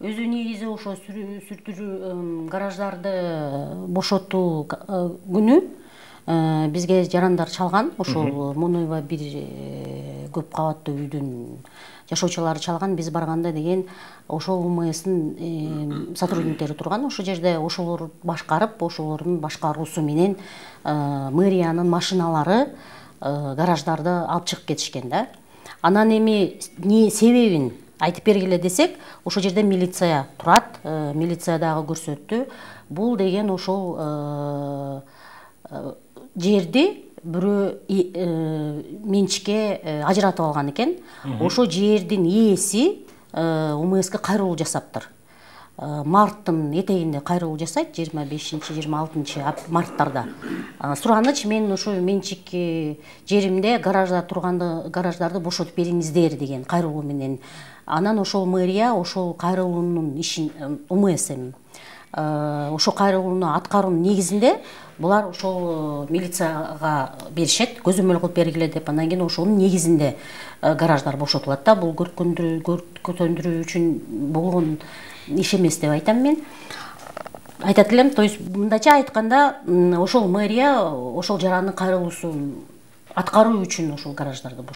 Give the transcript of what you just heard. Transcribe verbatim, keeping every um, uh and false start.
өзү негизи ошо сүртүрүү гараждарды бошотуу күнү бизге жарандар чалган. Ошол Мунуева бир көп кабаттуу үйдүн жашоочулары чалган. Биз барганда деген ошол УМСтин сотрудниктери турган. Ошол жерде ошолор башкарып, ошолордун башкаруусу менен мэриянын машиналары гараждарды алып чыгып кетишкен да. Анан эми не себебин айтып бергиле десек, ошол жерде милиция турат. Милиция дагы көрсөттү. Бул деген ошол жерди бирөө менчикке ажыратып алган экен. Ошо жердин ээси УМСке кайрылуу жасаптыр. Марттын этегинде кайрылуу жасайт, жыйырма бешинчи жыйырма алтынчы марттарда. Сураныч, мен ошо менчик жеримде гаражда турганды гараждарды бошотуп бериңиздер деген кайрылуу менен. Анан ошол мэрия ошол кайрылуунун ишин УМС эми ошо кайрылууну аткаруунун негизинде булар ошол милицияга беришет, көзөмөл кылып бергиле деп. Андан кийин ошонун негизинде гараждар бошотулат да. Бул көркөндүрүү үчүн болгон иш эмес деп айтам мен. Айтат элем, то есть мындайча айтканда, ошол мэрия ошол жарандын кайрылуусун аткаруу үчүн ошол гараждарды